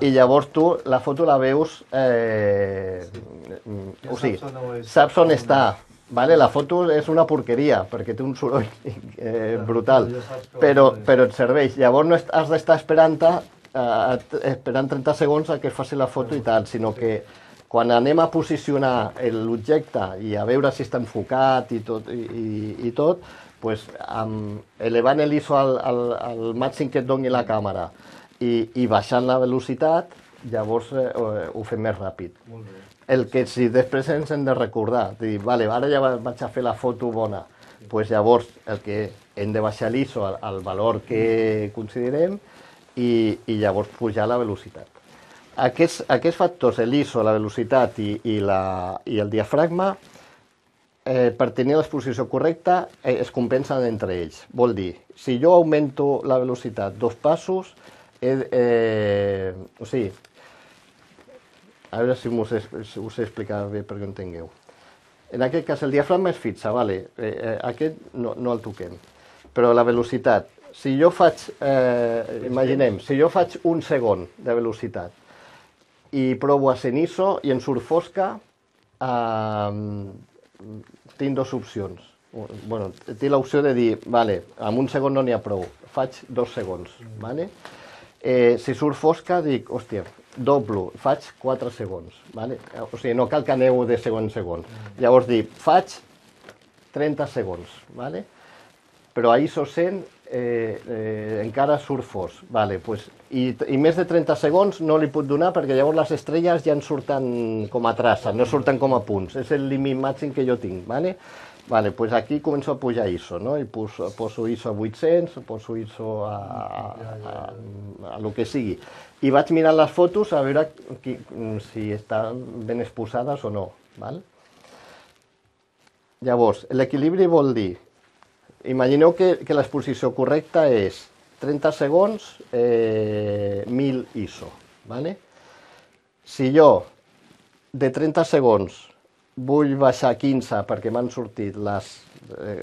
i llavors tu la foto la veus, eh, o sigui, saps on està. Vale? La foto és una porqueria, perquè té un soroll eh, brutal, però, però et serveix. Llavors no has d'estar esperant, eh, esperant trenta segons a que es faci la foto i tal, sinó que quan anem a posicionar l'objecte i a veure si està enfocat i tot, i, i, i tot pues, amb, elevant l'I S O al, al, al màxim que et doni la càmera i, i baixant la velocitat, llavors eh, ho fem més ràpid. El que si després ens hem de recordar, de dir, vale, ara ja vaig a fer la foto bona, pues llavors el que hem de baixar l'I S O al, al valor que considerem i, i llavors pujar la velocitat. Aquests, aquests factors, l'I S O, la velocitat i, i, la, i el diafragma, eh, per tenir l'exposició correcta, eh, es compensen entre ells. Vol dir, si jo augmento la velocitat dos passos, eh, eh, o sigui, a veure si us, us he explicat bé perquè ho entengueu. En aquest cas el diafragma és fixa, vale? eh, aquest no, no el toquem, però la velocitat, si jo faig, eh, imaginem, si jo faig un segon de velocitat i provo a ser en I S O i en surt fosca, eh, tinc dues opcions. Bueno, tinc l'opció de dir, vale, amb un segon no n'hi ha prou, faig dos segons, vale? Eh, si surt fosca, dic, hòstia, doblo, faig quatre segons, vale? O sigui, no cal que aneu de segon en segon. Llavors dic, faig trenta segons, vale? Però a I S O cent eh, eh, encara surt fos, vale? Pues, i, i més de trenta segons no li puc donar perquè llavors les estrelles ja en surten com a traces, no surten com a punts, és el límit màxim que jo tinc, vale? Vale, pues aquí començo a pujar I S O, no? I poso, poso I S O a vuit-cents, poso I S O a, a, a, a, a lo que sigui. I vaig mirant les fotos a veure qui, si estan ben exposades o no. Val? Llavors, l'equilibri vol dir, imagineu que, que l'exposició correcta és trenta segons, eh, mil I S O. Vale? Si jo de trenta segons vull baixar quinze perquè m'han sortit les...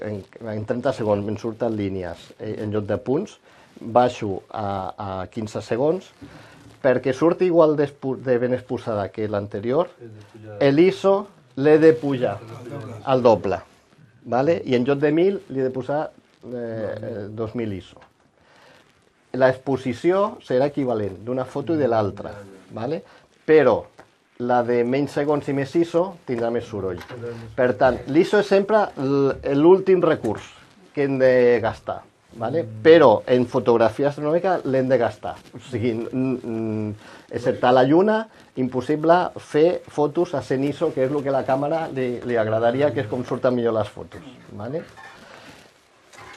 En, en trenta segons m'han surten línies en lloc de punts, baixo a, a quinze segons, perquè surti igual de, de ben exposada que l'anterior, l'I S O l'he de pujar al doble, vale? I en lloc de mil li he de posar eh, dos mil I S O. L'exposició serà equivalent d'una foto i de l'altra, vale? Però la de menys segons i més I S O tindrà més soroll. Per tant, l'I S O és sempre l'últim recurs que hem de gastar, vale? Però en fotografia astronòmica l'hem de gastar. O sigui, excepte la lluna, impossible fer fotos a cent I S O, que és el que a la càmera li, li agradaria, que és com surten millor les fotos. Vale?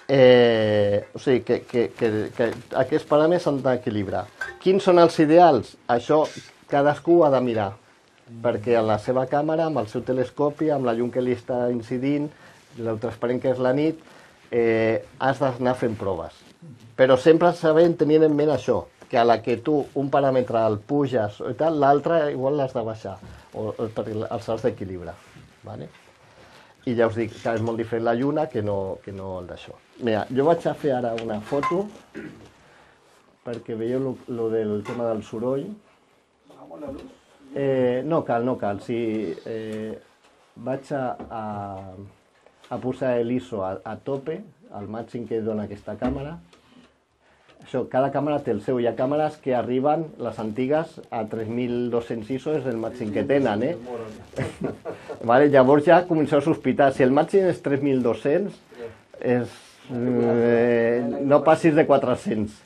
Eh, o sigui, que, que, que, que aquests paràmetres s'han d'equilibrar. Quins són els ideals? Això cadascú ha de mirar, perquè en la seva càmera, amb el seu telescopi, amb la llum que li està incidint, el transparent que és la nit, eh, has d'anar fent proves. Però sempre sabent, tenint en ment això, que a la que tu un paràmetre el puges i tal, l'altre igual l'has de baixar, o, o perquè els has d'equilibrar. Vale? I ja us dic que és molt diferent la lluna que no, que no el d'això. Mira, jo vaig a fer ara una foto perquè veieu lo del tema del soroll. Eh, no cal, no cal. Si, eh, vaig a, a, a posar l'I S O a, a tope, al màxim que dona aquesta càmera. això, cada càmera té el seu. Hi ha càmeres que arriben, les antigues, a tres mil dos-cents I S O, és el màxim que tenen, eh? Vale, llavors ja comenceu a sospitar. Si el màxim és tres mil dos-cents, és, eh, no passis de quatre-cents.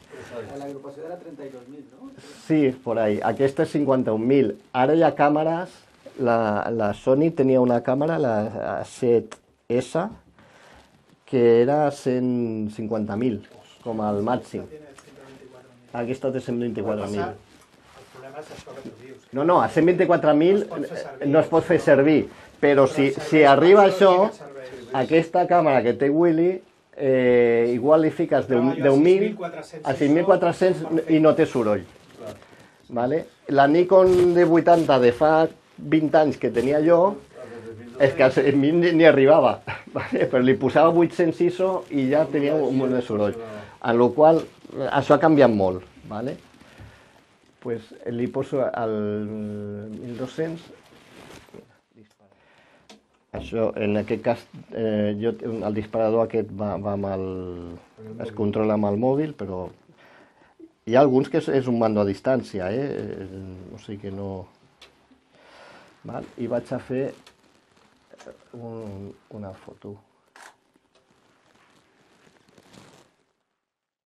L'agrupació era trenta-dos mil, no? Sí, por ahí. Aquesta és cinquanta-un mil. Ara hi ha càmeres, la, la Sony tenia una càmera, la set S, que era cent cinquanta mil, com al màxim. Aquesta té cent vint-i-quatre mil. El problema és això que tu dius. No, no, a cent vint-i-quatre mil No es pot fer servir. no es pot fer servir, però si, si arriba això, aquesta càmera que té Willy, eh, igual li fiques deu mil a sis mil quatre-cents i no té soroll. Vale? La Nikon D vuitanta de fa vint anys que tenia jo, és que a cent mil ni, ni arribava, vale? Però li posava vuit-cents I S O i ja tenia un munt de soroll. En la qual això ha canviat molt, vale? Pues li poso al mil dos-cents. Això, en aquest cas, eh, jo, el disparador aquest va, va amb el, es controla amb el mòbil, però hi ha alguns que és, és un mando a distància, eh? O sigui que no... Val? I vaig a fer un, una foto.